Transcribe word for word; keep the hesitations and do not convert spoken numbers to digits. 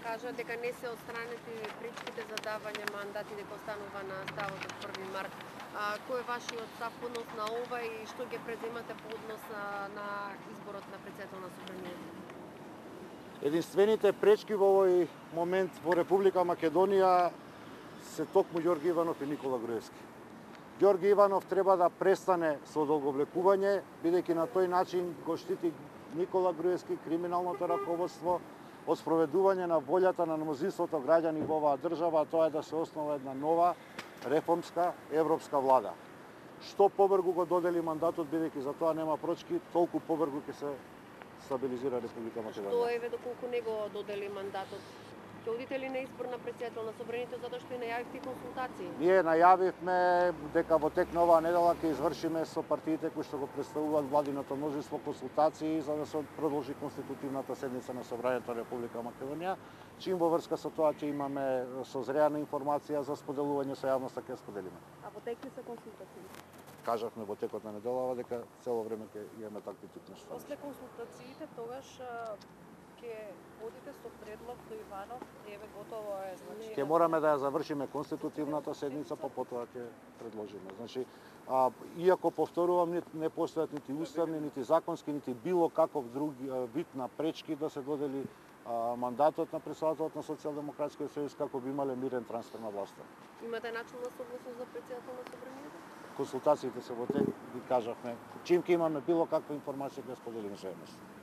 кажа дека не се отстранети пречките за давање мандат и дека останува на ставот од први март. А, кој е вашиот став по однос на ова и што ќе преземате по однос на, на изборот на претседател на Собранието? Единствените пречки во овој момент во Република Македонија се токму Ѓорги Иванов и Никола Груевски. Ѓорги Иванов треба да престане со одолговлекување, бидејќи на тој начин го штити Никола Груевски, криминалното раководство, од спроведување на волјата на мнозинството граѓани во оваа држава, а тоа е да се основа една нова, реформска, европска влада. Што побрзо го додели мандатот, бидејќи за тоа нема пречки, толку побрзо ќе се стабилизира Република Македонија. Што еве доколку не го додели мандатот? Ќе одите ли на избор на претседател на Собранието затоа што и најавивте консултации? Ние најавивме дека во тек на оваа недела ќе извршиме со партиите кои што го представуваат владиното мнозинство консултации за да се продолжи конститутивната седница на Собранието на Република Македонија. Чим во врска со тоа ќе имаме созреана информација за споделување со јавноста, ќе споделиме. А во тек ли се консултации? Кажавме во текот на неделава дека цело време ќе имаме такви тип нешта. После консултациите тогаш ќе одите со предлог до Иванов, еве готово е, значи. Ќе мораме да ја завршиме конститутивната седница, па потоа ќе предложиме. Значи, а, иако повторувам, не, не постојат нити уставни, нити законски, нити било каков други вид на пречки да се додели а, мандатот на претседателот на Социјалдемократскиот сојуз како би имале мирен трансфер на власта. Имате начелна согласност за претседател на Собранието? Консултациите се во тек, ви кажавме. Чим ќе имаме било каква информација ќе споделиме со јавноста.